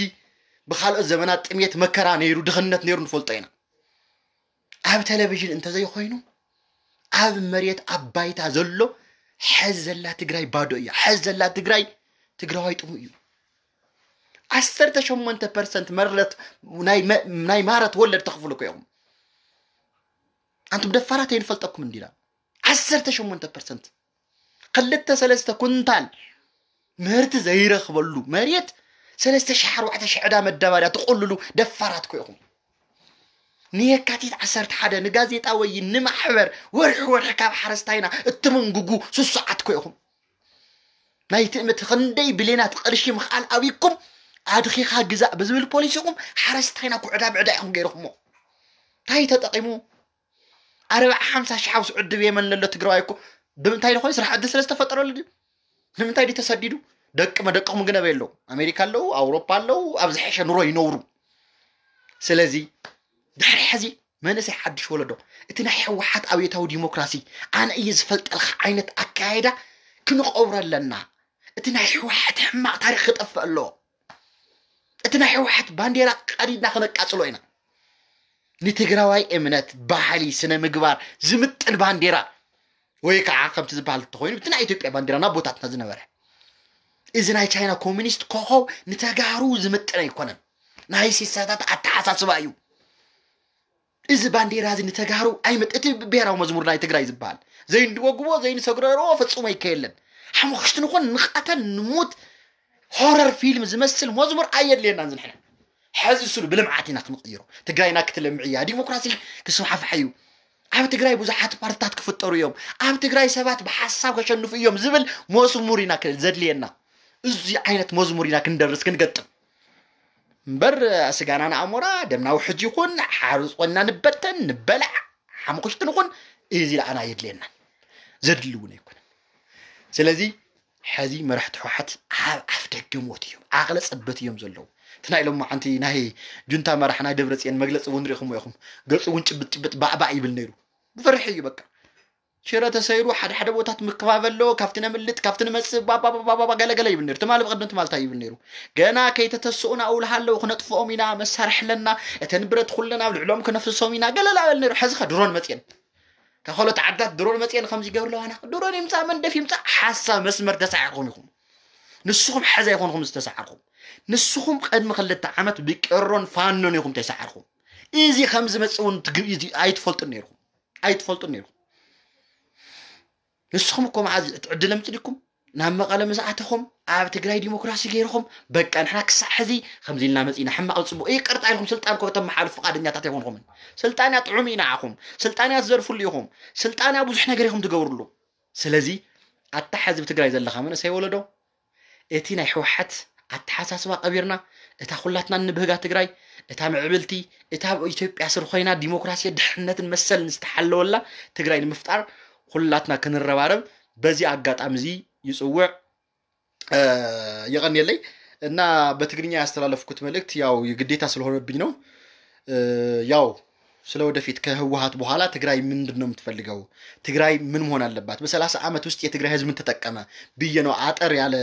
ብኻልኦት ዘመናት ጥሜት መከራ ነይሩ፣ ድኽነት ነይሩ ንፈልጦ ኢና። ኣብ ቴሌቪዥን እንተዘይኮይኑ ኣብ መሬት ኣብ ባይታ ዘሎ ሕዚ ዘላ ትግራይ ባዶ እያ። ሕዚ ዘላ ትግራይ ትግራዋይ ጥሙ እዩ። ዓሰርተ ሸሞንተ ፐርሰንት መረት ናይ መ- ናይ ማረት ወለድ ተኽፍሉ እኮ ኢኹም። ኣንቱም ደፋራት ኣይንፈልጠኩም እንዲና። ዓሰርተ ሸሞንተ ፐርሰንት ክልተ ሰለስተ ኩንታል ምህርቲ ዘይረኽበሉ መሬት ሰለስተ ሺሕ ኣርባዕተ ሺሕ ዕዳ መዳበርያ ትቆልሉ ደፋራት እኮ ኢኹም። ንየካቲት ዓሰርተ ሓደ ንጋዜጣ ወይ ንማሕበር ወርሒ ወርሒ ካብ ሓረስታይና እትምንጉጉ ስሱዓት እኮ ኢኹም። ናይ ትእምት ክንደይ ብሌናት ቅርሺ ምኽኣል ኣብይኩም ኣድኺኻ ግዛእ ብዝብል ፖሊሲኹም ሓረስታይና ኩዕዳ ብዕዳ ኢኹም ገይርኹሞ። እንታይ ተጠቒሙ? ኣርባዓ ሓምሳ ሺሕ ሓውስ ዕድብ የመን ለሎ ትግራዋይ እኮ ብምንታይ ዝኾነ ስራሕ ዕድል ስለ ዝተፈጠረሉ ድዩ? ንምንታይ ድዩ ተሰዲዱ? ደቂ መደቅኹም ግን ኣበይ ኣለዉ? ኣሜሪካ ኣለዉ፣ ኣውሮፓ ኣለዉ፣ ኣብ ዝሐሸ ኑሮ ይነብሩ። ስለዚ ድሕሪ ሕዚ መንእሰይ ሓድሽ ወለዶ እቲ ናይ ህወሓት ኣብዮታዊ ዲሞክራሲ ኣነ እየ ዝፈልጠልካ ዓይነት ኣካያይዳ ክንቐብሮ ኣለና። እቲ ናይ ህወሓት ሕማቕ ታሪኽ ክጠፍእ ኣለዎ። እቲ ናይ ህወሓት ባንዴራ ቀዲድና ክነቃፅሎ ኢና። ንትግራዋይ እምነት፣ ባህሊ፣ ስነ ምግባር ዝምጥን ባንዴራ ወይ ከዓ ከምቲ ዝበሃል እንተኮይኑ እቲ ናይ ኢትዮጵያ ባንዴራ ናብ ቦታትና ዝነበረ እዚ ናይ ቻይና ኮሚኒስት ኮኸብ ንተጋሩ ዝምጥን ኣይኮነን። ናይ ሲሳታት ኣተሓሳስባ እዩ። እዚ ባንዴራ እዚ ንተጋሩ ኣይመጥ እቲ ብሄራዊ መዝሙር ናይ ትግራይ ዝበሃል ዘይንድወግቦ ዘይንሰግረሮ ፈጹሞ ይከየለን። ሓሙኽሽቲ ንኹን ንቐተል ንሙት ሆረር ፊልም ዝመስል መዝሙር ኣየድልየናን ዝንሕና ሕዚ ስሉ ብልምዓት ኢና ክንቕይሮ። ትግራይና ክትለምዕ እያ። ዲሞክራሲ ክስፋሕፋሕ እዩ። ኣብ ትግራይ ብዙሓት ፓርትታት ክፍጠሩ እዮም። ኣብ ትግራይ ሰባት ብሓሳብ ከሸንፉ እዮም ዝብል መዝሙር ኢና ዘድልየና። እዚ ዓይነት መዝሙር ኢና ክንደርስ ክንገጥም እምበር ስጋና ንኣሞራ ደምና ውሕጅ ይኹን ሓርፅ ኮይንና ንበተን ንበላዕ ሓሙኽሽቲ ንኹን እዚ ለኣና የድልየና ዘድሊ እውን ኣይኮነን። ስለዚ ሕዚ መራሕቲ ህወሓት ኣብ ኣፍ ደገ ሞት እዮም፣ ዓቕለ ፀበት እዮም ዘለዉ። እቲ ናይ ሎማዓንቲ ናይ ጁንታ መራሕ ናይ ደብረፅዮን መግለፂ እውን ሪኢኹሞ ኢኹም። ገፁ እውን ጭብጥ ጭብጥ ባዕባዕ ይብል ነይሩ። ብፍርሒ እዩ በቃ። ሽረ ተሰይሩ ሓደ ሓደ ቦታት ምክባብ ኣሎ። ካብቲ ነምልጥ ካብቲ ንመፅእ ባባባባባ ገለገለ ይብል ነይሩ። ትማሊ ብቐደም ትማልታ ይብል ነይሩ። ገና ከይተተስኡና እውልሃ ኣለዉ ክነጥፍኦም ኢና መሳርሒ ኣለና። እተን ብረት ኩለን ኣብ ልዕሎም ክነፍስሶም ኢና ገለላ በል ነይሩ። ሕዚ ኸ ድሮን መፅየን ካብ ካልኦት ዓድታት ድሮን መፅየን ከምዚ ይገብር ኣለዋና። ድሮን ይምፃእ መንደፍ ይምፃእ ሓሳብ መስመር ተሳዒርኩም ኢኹም። ንስኹም ሓዚ ኣይኮንኩም ዝተሳዓርኩም። ንስኹም ቅድሚ ክልተ ዓመት ብቄሮን ፋኖን ኢኹም ተሳዓርኩም። እዚ ከም ዝመፅእ እውን ትግ- ኣይትፈልጡን ነይርኩም። ኣይትፈልጡን ነይርኩም። ንስኹም እኮ መዓዝ እቲ ዕድል ኣምፅእ ዲኩም ናብ መቐለ ምስ ኣተኹም ኣብ ትግራይ ዲሞክራሲ ገይርኹም በቃ ንሕና ክሳዕ ሕዚ ከምዚ ኢልና መፂና ሕማቕ ፅቡቕ ይቅርታ ኢልኩም ስልጣን እኮ ከተመሓልፉ ፍቓደኛታት ኣይኮንኹምን። ስልጣንያ ጥዑም እዩ ንዓኹም። ስልጣንያ ትዘርፍሉ ኢኹም። ስልጣንያ ብዙሕ ነገር ኢኹም ትገብርሉ። ስለዚ ኣታ ሕዚ ኣብ ትግራይ ዘለኻ መንእሰይ ወለዶ እቲ ናይ ህወሓት ኣተሓሳስባ ቀቢርና እታ ኩላትና እንብህጋ ትግራይ እታ ምዕብልቲ እታ ኣብ ኢትዮጵያ ስር ኮይና ዲሞክራሲ ድሕነትን መሰልን ዝተሓለወላ ትግራይ ንምፍጣር ኩላትና ክንረባረብ በዚ ኣጋጣሚ እዚ ይፅውዕ። የቐንየለይ እና በትግርኛ ያስተላለፍኩት መልእክት ያው ግዴታ ስለሆነብኝ ነው። ያው ስለ ወደፊት ከህወሓት በኋላ ትግራይ ምንድን ነው የምትፈልገው? ትግራይ ምን መሆን አለባት? በሰላሳ ዓመት ውስጥ የትግራይ ህዝብ ምን ተጠቀመ ብዬ ነው አጠር ያለ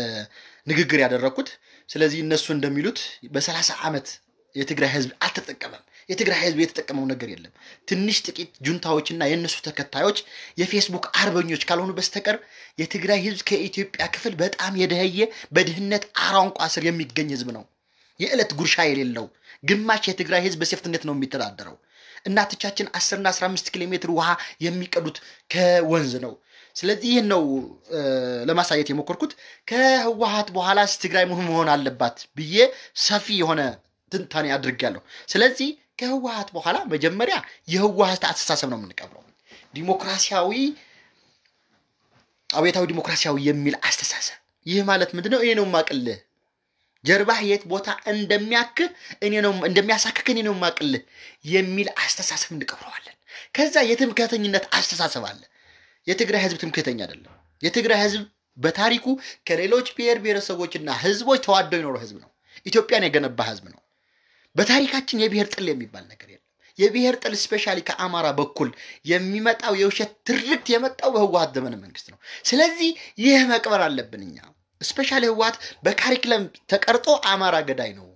ንግግር ያደረግኩት። ስለዚህ እነሱ እንደሚሉት በሰላሳ ዓመት የትግራይ ህዝብ አልተጠቀመም። የትግራይ ህዝብ የተጠቀመው ነገር የለም። ትንሽ ጥቂት ጁንታዎችና የእነሱ ተከታዮች የፌስቡክ አርበኞች ካልሆኑ በስተቀር የትግራይ ህዝብ ከኢትዮጵያ ክፍል በጣም የደኸየ በድህነት አረንቋ ስር የሚገኝ ህዝብ ነው። የዕለት ጉርሻ የሌለው ግማሽ የትግራይ ህዝብ በሴፍትነት ነው የሚተዳደረው። እናቶቻችን አስርና አስራ አምስት ኪሎ ሜትር ውሃ የሚቀዱት ከወንዝ ነው። ስለዚህ ይህን ነው ለማሳየት የሞከርኩት። ከህወሓት በኋላስ ትግራይ ምን መሆን አለባት ብዬ ሰፊ የሆነ ትንታኔ አድርጌያለሁ። ስለዚህ ከህወሓት በኋላ መጀመሪያ የህወሓት አስተሳሰብ ነው የምንቀብረው። ዲሞክራሲያዊ አብዮታዊ ዲሞክራሲያዊ የሚል አስተሳሰብ። ይህ ማለት ምንድነው? እኔ ነው የማቅልህ ጀርባህ የት ቦታ እንደሚያክህ እኔ ነው እንደሚያሳክክ እኔ ነው የማቅልህ የሚል አስተሳሰብ እንቀብረዋለን። ከዛ የትምክህተኝነት አስተሳሰብ አለ። የትግራይ ህዝብ ትምክህተኛ አይደለም። የትግራይ ህዝብ በታሪኩ ከሌሎች ብሔር ብሔረሰቦችና ህዝቦች ተዋዶ የኖረ ህዝብ ነው። ኢትዮጵያን የገነባ ህዝብ ነው። በታሪካችን የብሔር ጥል የሚባል ነገር የለም። የብሔር ጥል ስፔሻሊ ከአማራ በኩል የሚመጣው የውሸት ትርክት የመጣው በህወሓት ዘመነ መንግስት ነው። ስለዚህ ይህ መቅበር አለብን እኛ። ስፔሻሊ ህወሓት በካሪክለም ተቀርጦ አማራ ገዳይ ነው፣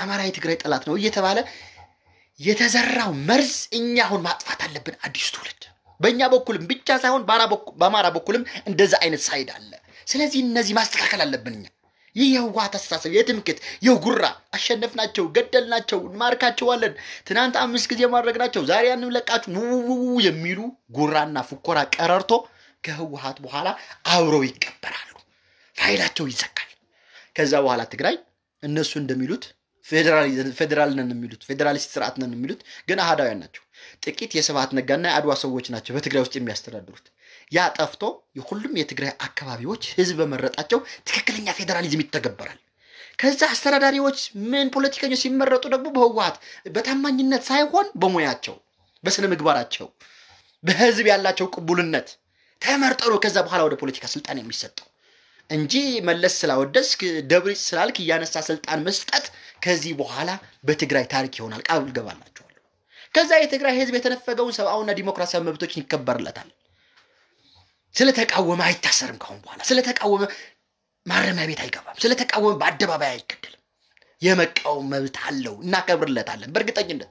አማራ የትግራይ ጠላት ነው እየተባለ የተዘራው መርዝ እኛ አሁን ማጥፋት አለብን። አዲሱ ትውልድ በእኛ በኩልም ብቻ ሳይሆን በአማራ በኩልም እንደዛ አይነት ሳይድ አለ። ስለዚህ እነዚህ ማስተካከል አለብን እኛ። ይህ የህወሓት አስተሳሰብ የትምክህት የጉራ አሸነፍናቸው፣ ገደልናቸው፣ እንማርካቸዋለን፣ ትናንት አምስት ጊዜ ማድረግናቸው ዛሬ አንለቃችሁ ውውውው የሚሉ ጉራና ፉኮራ ቀረርቶ ከህወሓት በኋላ አብረው ይቀበራሉ። ፋይላቸው ይዘጋል። ከዛ በኋላ ትግራይ እነሱ እንደሚሉት ፌዴራል ነን የሚሉት ፌዴራሊስት ስርዓት ነን የሚሉት ግን አህዳውያን ናቸው። ጥቂት የስብሐት ነጋና የአድዋ ሰዎች ናቸው በትግራይ ውስጥ የሚያስተዳድሩት። ያ ጠፍቶ የሁሉም የትግራይ አካባቢዎች ህዝብ በመረጣቸው ትክክለኛ ፌዴራሊዝም ይተገበራል። ከዛ አስተዳዳሪዎች ምን ፖለቲከኞች ሲመረጡ ደግሞ በህወሓት በታማኝነት ሳይሆን በሙያቸው፣ በስነ ምግባራቸው፣ በህዝብ ያላቸው ቅቡልነት ተመርጦ ነው ከዛ በኋላ ወደ ፖለቲካ ስልጣን የሚሰጠው እንጂ መለስ ስላወደስክ ደብሪጽ ስላልክ እያነሳ ስልጣን መስጠት ከዚህ በኋላ በትግራይ ታሪክ ይሆናል። ቃል እገባላችኋለሁ። ከዛ የትግራይ ህዝብ የተነፈገውን ሰብአዊና ዲሞክራሲያዊ መብቶች ይከበርለታል። ስለተቃወመ አይታሰርም። ካሁን በኋላ ስለተቃወመ ማረሚያ ቤት አይገባም። ስለተቃወመ በአደባባይ አይገደልም። የመቃወም መብት አለው። እናከብርለታለን በእርግጠኝነት።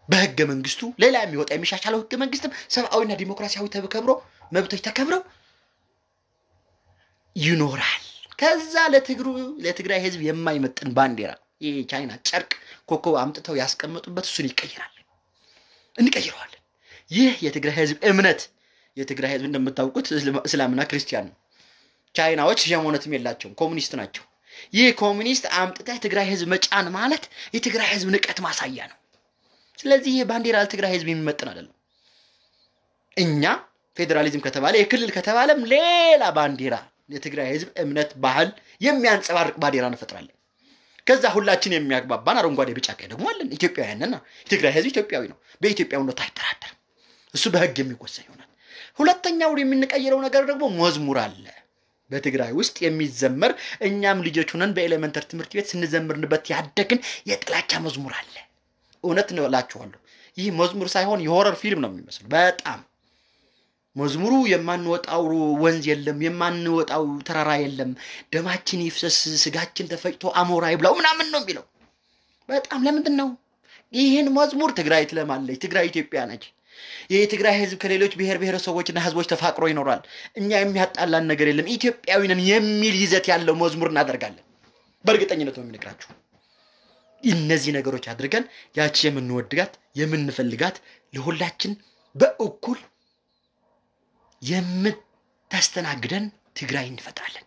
በህገ መንግስቱ ሌላ የሚወጣ የሚሻሻለው ህገ መንግስትም ሰብአዊና ዲሞክራሲያዊ ተከብሮ መብቶች ተከብረው ይኖራል። ከዛ ለትግሩ ለትግራይ ህዝብ የማይመጥን ባንዲራ፣ ይሄ ቻይና ጨርቅ ኮከብ አምጥተው ያስቀመጡበት እሱን ይቀይራል፣ እንቀይረዋለን። ይህ የትግራይ ህዝብ እምነት፣ የትግራይ ህዝብ እንደምታውቁት እስልምና ክርስቲያን ነው። ቻይናዎች ሃይማኖትም የላቸውም፣ ኮሚኒስት ናቸው። ይህ ኮሚኒስት አምጥተህ ትግራይ ህዝብ መጫን ማለት የትግራይ ህዝብ ንቀት ማሳያ ነው። ስለዚህ ይህ ባንዲራ ለትግራይ ህዝብ የሚመጥን አይደለም። እኛ ፌዴራሊዝም ከተባለ የክልል ከተባለም ሌላ ባንዲራ የትግራይ ህዝብ እምነት ባህል የሚያንጸባርቅ ባንዲራ እንፈጥራለን። ከዛ ሁላችን የሚያግባባን አረንጓዴ ቢጫ ቀይ ደግሞ አለን። ኢትዮጵያውያን ነና። የትግራይ ህዝብ ኢትዮጵያዊ ነው። በኢትዮጵያዊነቱ አይደራደርም። እሱ በህግ የሚወሰን ይሆናል። ሁለተኛው የምንቀይረው ነገር ደግሞ መዝሙር አለ። በትግራይ ውስጥ የሚዘመር እኛም ልጆች ሆነን በኤሌመንተር ትምህርት ቤት ስንዘምርንበት ያደግን የጥላቻ መዝሙር አለ። እውነት ነው እላችኋለሁ። ይህ መዝሙር ሳይሆን የሆረር ፊልም ነው የሚመስለው። በጣም መዝሙሩ የማንወጣው ወንዝ የለም፣ የማንወጣው ተራራ የለም፣ ደማችን ይፍሰስ፣ ስጋችን ተፈጭቶ አሞራ ይብላው ምናምን ነው የሚለው። በጣም ለምንድን ነው ይህን መዝሙር? ትግራይ ትለማለች። ትግራይ ኢትዮጵያ ነች። የትግራይ ህዝብ ከሌሎች ብሔር ብሔረሰቦችና ህዝቦች ተፋቅሮ ይኖራል። እኛ የሚያጣላን ነገር የለም፣ ኢትዮጵያዊ ነን የሚል ይዘት ያለው መዝሙር እናደርጋለን። በእርግጠኝነት ነው የሚነግራችሁ። እነዚህ ነገሮች አድርገን ያቺ የምንወድጋት የምንፈልጋት ለሁላችን በእኩል የምታስተናግደን ትግራይ እንፈጥራለን።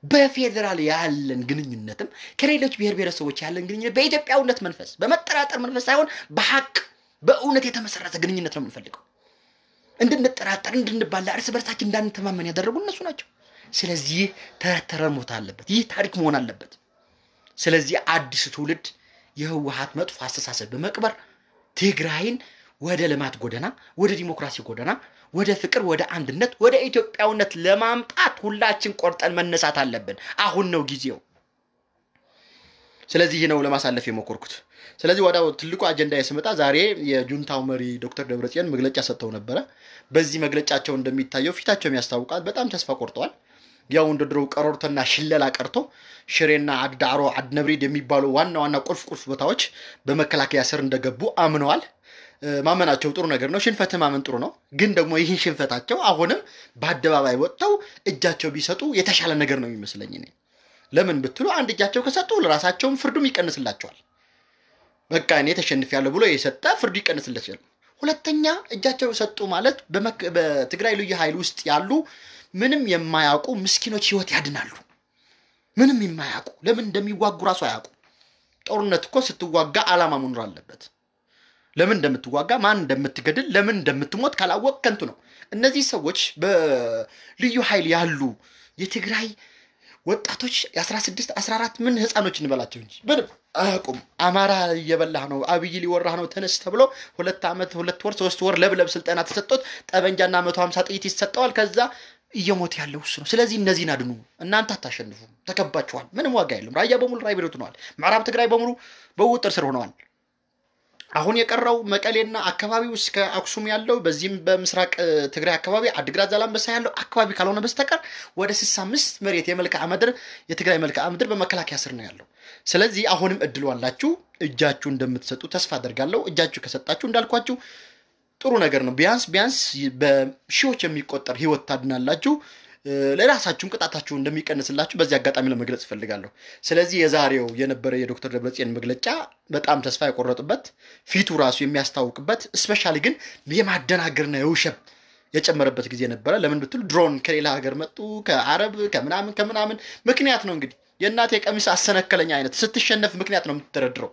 በፌዴራል ያለን ግንኙነትም ከሌሎች ብሔር ብሔረሰቦች ያለን ግንኙነት በኢትዮጵያዊነት መንፈስ፣ በመጠራጠር መንፈስ ሳይሆን በሀቅ በእውነት የተመሰረተ ግንኙነት ነው የምንፈልገው። እንድንጠራጠር፣ እንድንባላ፣ እርስ በርሳችን እንዳንተማመን ያደረጉ እነሱ ናቸው። ስለዚህ ተረት ተረት መሆን አለበት። ይህ ታሪክ መሆን አለበት። ስለዚህ አዲሱ ትውልድ የህወሓት መጥፎ አስተሳሰብ በመቅበር ትግራይን ወደ ልማት ጎዳና፣ ወደ ዲሞክራሲ ጎዳና፣ ወደ ፍቅር፣ ወደ አንድነት፣ ወደ ኢትዮጵያዊነት ለማምጣት ሁላችን ቆርጠን መነሳት አለብን። አሁን ነው ጊዜው። ስለዚህ ይህ ነው ለማሳለፍ የሞከርኩት። ስለዚህ ወደ ትልቁ አጀንዳ ስመጣ ዛሬ የጁንታው መሪ ዶክተር ደብረጽዮን መግለጫ ሰጥተው ነበረ። በዚህ መግለጫቸው እንደሚታየው ፊታቸውም ያስታውቃል። በጣም ተስፋ ቆርጠዋል። ያው እንደ ድሮው ቀረርቶና ሽለላ ቀርቶ ሽሬና ዓዲ ዳዕሮ፣ ዓዲ ነብሪድ የሚባሉ ዋና ዋና ቁልፍ ቁልፍ ቦታዎች በመከላከያ ስር እንደገቡ አምነዋል። እ፣ ማመናቸው ጥሩ ነገር ነው። ሽንፈት ማመን ጥሩ ነው። ግን ደግሞ ይህን ሽንፈታቸው አሁንም በአደባባይ ወጥተው እጃቸው ቢሰጡ የተሻለ ነገር ነው የሚመስለኝ እኔ። ለምን ብትሉ አንድ እጃቸው ከሰጡ ለራሳቸውም ፍርዱም ይቀንስላቸዋል። በቃ እኔ ተሸንፌያለሁ ብሎ የሰጠ ፍርዱ ይቀንስለታል። ሁለተኛ እጃቸው ሰጡ ማለት በመክ-፣ በትግራይ ልዩ ኃይል ውስጥ ያሉ ምንም የማያውቁ ምስኪኖች ህይወት ያድናሉ። ምንም የማያውቁ፣ ለምን እንደሚዋጉ ራሱ አያውቁ። ጦርነት እኮ ስትዋጋ ዓላማ መኖር አለበት። ለምን እንደምትዋጋ፣ ማን እንደምትገድል፣ ለምን እንደምትሞት ካላወቅ ከንቱ ነው። እነዚህ ሰዎች በልዩ ኃይል ያሉ የትግራይ ወጣቶች የ16 14 ምን ህፃኖች እንበላቸው እንጂ ምንም አያውቁም። አማራ እየበላህ ነው፣ አብይ ሊወራህ ነው፣ ተነስ ተብሎ ሁለት ዓመት፣ ሁለት ወር፣ ሶስት ወር ለብለብ ስልጠና ተሰጥቶት ጠበንጃና መቶ ሃምሳ ጥይት ይሰጠዋል። ከዛ እየሞተ ያለው እሱ ነው። ስለዚህ እነዚህን አድኑ። እናንተ አታሸንፉም፣ ተከባችኋል። ምንም ዋጋ የለም። ራያ በሙሉ ራይ ቤት ሆነዋል። ምዕራብ ትግራይ በሙሉ በውጥር ስር ሆነዋል። አሁን የቀረው መቀሌና አካባቢው እስከ አክሱም ያለው፣ በዚህም በምስራቅ፣ እ፣ ትግራይ አካባቢ አድግራት ዛላንበሳ ያለው አካባቢ ካልሆነ በስተቀር ወደ 65 መሬት የመልክዓ ምድር፣ የትግራይ መልክዓ ምድር በመከላከያ ስር ነው ያለው። ስለዚህ አሁንም እድሉ አላችሁ፣ እጃችሁ እንደምትሰጡ ተስፋ አደርጋለሁ። እጃችሁ ከሰጣችሁ እንዳልኳችሁ ጥሩ ነገር ነው። ቢያንስ ቢያንስ በሺዎች የሚቆጠር ህይወት ታድናላችሁ። እ፣ ለራሳችሁም ቅጣታችሁ እንደሚቀንስላችሁ በዚህ አጋጣሚ ለመግለጽ እፈልጋለሁ። ስለዚህ የዛሬው የነበረ የዶክተር ደብረጽዮን መግለጫ በጣም ተስፋ የቆረጡበት፣ ፊቱ ራሱ የሚያስታውቅበት፣ ስፔሻሊ ግን የማደናገርና የውሸብ የጨመረበት ጊዜ ነበረ። ለምን ብትሉ ድሮን ከሌላ ሀገር መጡ፣ ከአረብ ከምናምን ከምናምን ምክንያት ነው። እንግዲህ የእናቴ ቀሚስ አሰነከለኝ አይነት ስትሸነፍ ምክንያት ነው የምትደረድረው።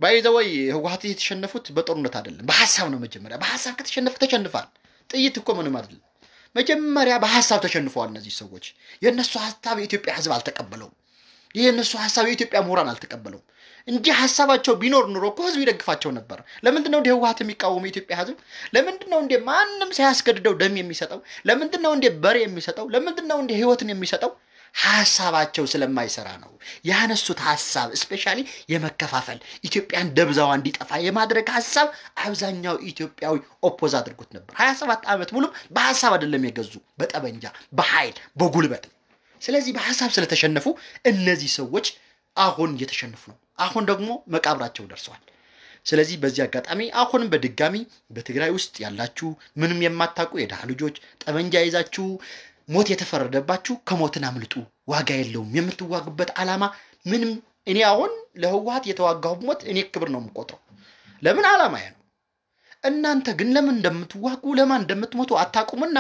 ባይዘወይ ህወሓት የተሸነፉት በጦርነት አይደለም፣ በሀሳብ ነው። መጀመሪያ በሀሳብ ከተሸነፈ ተሸንፋል። ጥይት እኮ ምንም አይደለም። መጀመሪያ በሀሳብ ተሸንፈዋል እነዚህ ሰዎች። የእነሱ ሀሳብ የኢትዮጵያ ህዝብ አልተቀበለውም። ይህ የእነሱ ሀሳብ የኢትዮጵያ ምሁራን አልተቀበለውም። እንጂ ሀሳባቸው ቢኖር ኑሮ እኮ ህዝብ ይደግፋቸው ነበር። ለምንድን ነው እንደ ህወሓት የሚቃወሙ የኢትዮጵያ ህዝብ? ለምንድን ነው እንደ ማንም ሳያስገድደው ደም የሚሰጠው? ለምንድን ነው እንደ በሬ የሚሰጠው? ለምንድን ነው እንደ ህይወትን የሚሰጠው? ሀሳባቸው ስለማይሰራ ነው። ያነሱት ሀሳብ especially የመከፋፈል፣ ኢትዮጵያን ደብዛዋ እንዲጠፋ የማድረግ ሀሳብ አብዛኛው ኢትዮጵያዊ ኦፖዝ አድርጎት ነበር። ሀያ ሰባት ዓመት ሙሉም በሀሳብ አይደለም የገዙ፣ በጠበንጃ፣ በኃይል፣ በጉልበት ነው። ስለዚህ በሀሳብ ስለተሸነፉ እነዚህ ሰዎች አሁን እየተሸነፉ ነው። አሁን ደግሞ መቃብራቸው ደርሰዋል። ስለዚህ በዚህ አጋጣሚ አሁንም በድጋሚ በትግራይ ውስጥ ያላችሁ ምንም የማታውቁ የድሃ ልጆች፣ ጠመንጃ ይዛችሁ ሞት የተፈረደባችሁ፣ ከሞትን አምልጡ። ዋጋ የለውም። የምትዋጉበት ዓላማ ምንም፣ እኔ አሁን ለህወሓት የተዋጋሁ ሞት እኔ ክብር ነው የምቆጥረው። ለምን? ዓላማ ነው። እናንተ ግን ለምን እንደምትዋጉ፣ ለማን እንደምትሞቱ አታውቁምና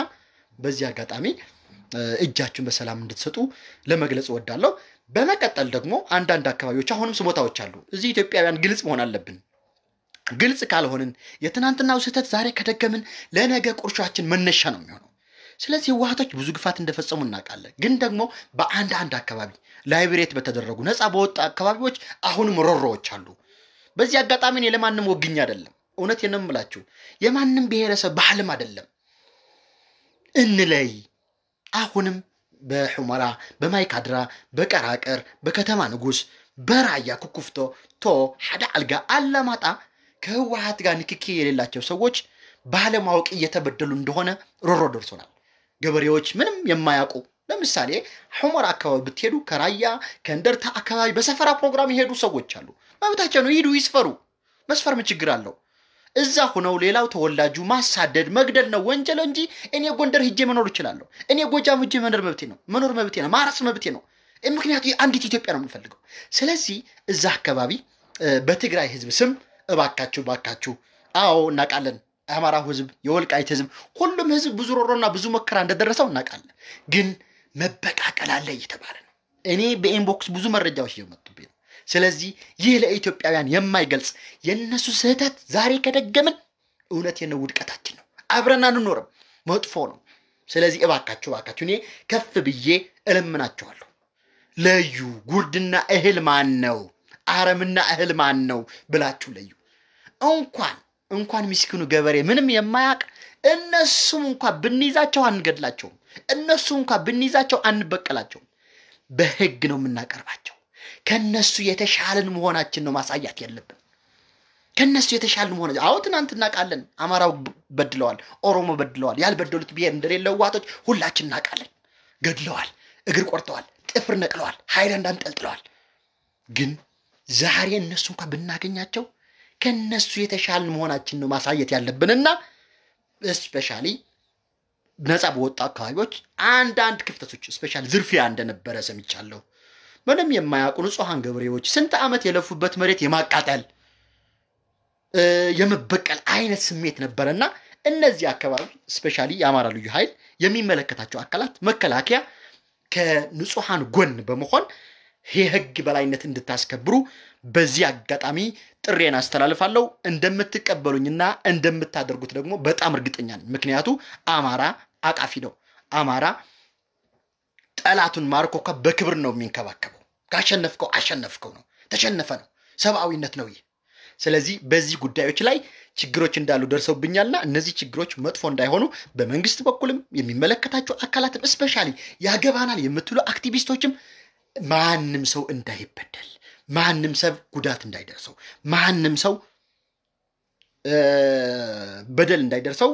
በዚህ አጋጣሚ እጃችሁን በሰላም እንድትሰጡ ለመግለጽ እወዳለሁ። በመቀጠል ደግሞ አንዳንድ አካባቢዎች አሁንም ስሞታዎች አሉ። እዚህ ኢትዮጵያውያን ግልጽ መሆን አለብን። ግልጽ ካልሆንን፣ የትናንትናው ስህተት ዛሬ ከደገምን፣ ለነገ ቁርሻችን መነሻ ነው የሚሆነው። ስለዚህ ህወሓቶች ብዙ ግፋት እንደፈጸሙ እናውቃለን። ግን ደግሞ በአንድ አንድ አካባቢ ላይብሬት በተደረጉ፣ ነፃ በወጣ አካባቢዎች አሁንም ሮሮዎች አሉ። በዚህ አጋጣሚ እኔ ለማንም ወግኝ አይደለም፣ እውነቴን ነው የምላችሁ። የማንም ብሔረሰብ ባህልም አይደለም። እንለይ። አሁንም በሑመራ፣ በማይካድራ፣ በቀራቅር፣ በከተማ ንጉስ፣ በራያ ኩኩፍቶ፣ ቶ፣ ሓደ አልጋ፣ አላማጣ ከህወሓት ጋር ንክኪ የሌላቸው ሰዎች ባለማወቅ እየተበደሉ እንደሆነ ሮሮ ደርሶናል። ገበሬዎች ምንም የማያውቁ፣ ለምሳሌ ሑመራ አካባቢ ብትሄዱ፣ ከራያ ከእንደርታ አካባቢ በሰፈራ ፕሮግራም የሄዱ ሰዎች አሉ። መብታቸው ነው፣ ሂዱ ይስፈሩ። መስፈር ምን ችግር አለው? እዛ ሆነው ሌላው ተወላጁ ማሳደድ መግደል ነው ወንጀል እንጂ እኔ ጎንደር ሂጄ መኖር እችላለሁ። እኔ ጎጃም ሂጄ መኖር መብቴ ነው፣ መኖር መብቴ ነው፣ ማረስ መብቴ ነው። ምክንያቱ አንዲት ኢትዮጵያ ነው የምንፈልገው። ስለዚህ እዛ አካባቢ በትግራይ ህዝብ ስም እባካችሁ፣ እባካችሁ፣ አዎ እናውቃለን። የአማራው ህዝብ፣ የወልቃይት ህዝብ፣ ሁሉም ህዝብ ብዙ ሮሮና ብዙ መከራ እንደደረሰው እናውቃለን። ግን መበቃቀል አለ እየተባለ ነው። እኔ በኢንቦክስ ብዙ መረጃዎች እየመጡብኝ ነው። ስለዚህ ይህ ለኢትዮጵያውያን የማይገልጽ፣ የእነሱ ስህተት ዛሬ ከደገምን፣ እውነቴን ነው፣ ውድቀታችን ነው። አብረን አንኖርም፣ መጥፎ ነው። ስለዚህ እባካችሁ፣ እባካችሁ፣ እኔ ከፍ ብዬ እለምናችኋለሁ። ለዩ። ጉርድና እህል ማን ነው? አረምና እህል ማን ነው ብላችሁ ለዩ። እንኳን እንኳን ምስኪኑ ገበሬ ምንም የማያውቅ፣ እነሱም እንኳን ብንይዛቸው አንገድላቸውም። እነሱም እንኳን ብንይዛቸው አንበቀላቸውም። በህግ ነው የምናቀርባቸው። ከነሱ የተሻለን መሆናችን ነው ማሳያት ያለብን። ከነሱ የተሻለን መሆናችን። አዎ ትናንት እናውቃለን። አማራው በድለዋል፣ ኦሮሞ በድለዋል። ያልበደሉት ብሔር እንደሌለ ህወሓቶች ሁላችን እናውቃለን። ገድለዋል፣ እግር ቆርጠዋል፣ ጥፍር ነቅለዋል፣ ሃይላንድ አንጠልጥለዋል። ግን ዛሬ እነሱ እንኳን ብናገኛቸው ከነሱ የተሻልን መሆናችን ነው ማሳየት ያለብንና especially ነፃ በወጡ አካባቢዎች አንዳንድ ክፍተቶች፣ especially ዝርፊያ እንደነበረ ሰምቻለሁ። ምንም የማያውቁ ንጹሐን ገበሬዎች ስንት ዓመት የለፉበት መሬት የማቃጠል፣ የመበቀል አይነት ስሜት ነበረና እነዚህ አካባቢ especially የአማራ ልዩ ኃይል የሚመለከታቸው አካላት፣ መከላከያ ከንጹሐን ጎን በመሆን የህግ በላይነት እንድታስከብሩ በዚህ አጋጣሚ ጥሬን አስተላልፋለሁ። እንደምትቀበሉኝና እንደምታደርጉት ደግሞ በጣም እርግጠኛ ነኝ። ምክንያቱ አማራ አቃፊ ነው። አማራ ጠላቱን ማርኮ እኮ በክብር ነው የሚንከባከበው። ካሸነፍከው አሸነፍከው ነው፣ ተሸነፈ ነው። ሰብአዊነት ነው ይህ። ስለዚህ በዚህ ጉዳዮች ላይ ችግሮች እንዳሉ ደርሰውብኛልና እነዚህ ችግሮች መጥፎ እንዳይሆኑ በመንግስት በኩልም የሚመለከታቸው አካላትም especially ያገባናል የምትሉ አክቲቪስቶችም ማንም ሰው እንዳይበደል፣ ማንም ሰው ጉዳት እንዳይደርሰው፣ ማንም ሰው በደል እንዳይደርሰው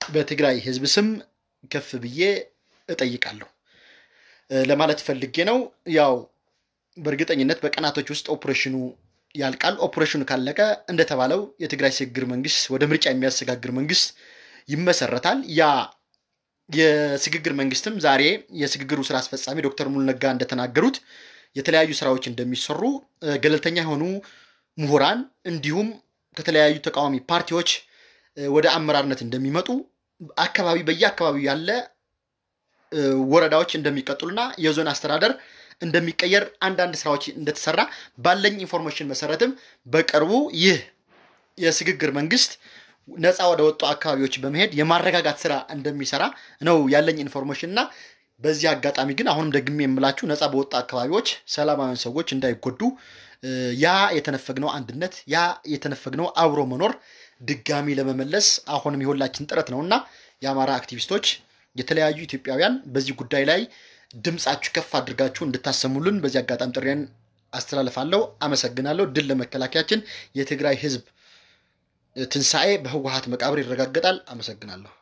በትግራይ ህዝብ ስም ከፍ ብዬ እጠይቃለሁ ለማለት ፈልጌ ነው። ያው በእርግጠኝነት በቀናቶች ውስጥ ኦፕሬሽኑ ያልቃል። ኦፕሬሽኑ ካለቀ እንደተባለው የትግራይ ሽግግር መንግስት፣ ወደ ምርጫ የሚያሸጋግር መንግስት ይመሰረታል። ያ የሽግግር መንግስትም ዛሬ የሽግግሩ ስራ አስፈጻሚ ዶክተር ሙሉ ነጋ እንደተናገሩት የተለያዩ ስራዎች እንደሚሰሩ፣ ገለልተኛ የሆኑ ምሁራን እንዲሁም ከተለያዩ ተቃዋሚ ፓርቲዎች ወደ አመራርነት እንደሚመጡ፣ አካባቢ በየአካባቢው ያለ ወረዳዎች እንደሚቀጥሉና የዞን አስተዳደር እንደሚቀየር፣ አንዳንድ ስራዎች እንደተሰራ ባለኝ ኢንፎርሜሽን መሰረትም በቅርቡ ይህ የሽግግር መንግስት ነፃ ወደ ወጡ አካባቢዎች በመሄድ የማረጋጋት ስራ እንደሚሰራ ነው ያለኝ ኢንፎርሜሽን። እና በዚህ አጋጣሚ ግን አሁንም ደግሜ የምላችሁ ነፃ በወጡ አካባቢዎች ሰላማዊያን ሰዎች እንዳይጎዱ ያ የተነፈግነው አንድነት፣ ያ የተነፈግነው አብሮ መኖር ድጋሚ ለመመለስ አሁንም የሁላችን ጥረት ነውና የአማራ አክቲቪስቶች፣ የተለያዩ ኢትዮጵያውያን በዚህ ጉዳይ ላይ ድምጻችሁ ከፍ አድርጋችሁ እንድታሰሙልን በዚህ አጋጣሚ ጥሬን አስተላልፋለሁ። አመሰግናለሁ። ድል ለመከላከያችን። የትግራይ ህዝብ ትንሳኤ በህወሓት መቃብር ይረጋገጣል። አመሰግናለሁ።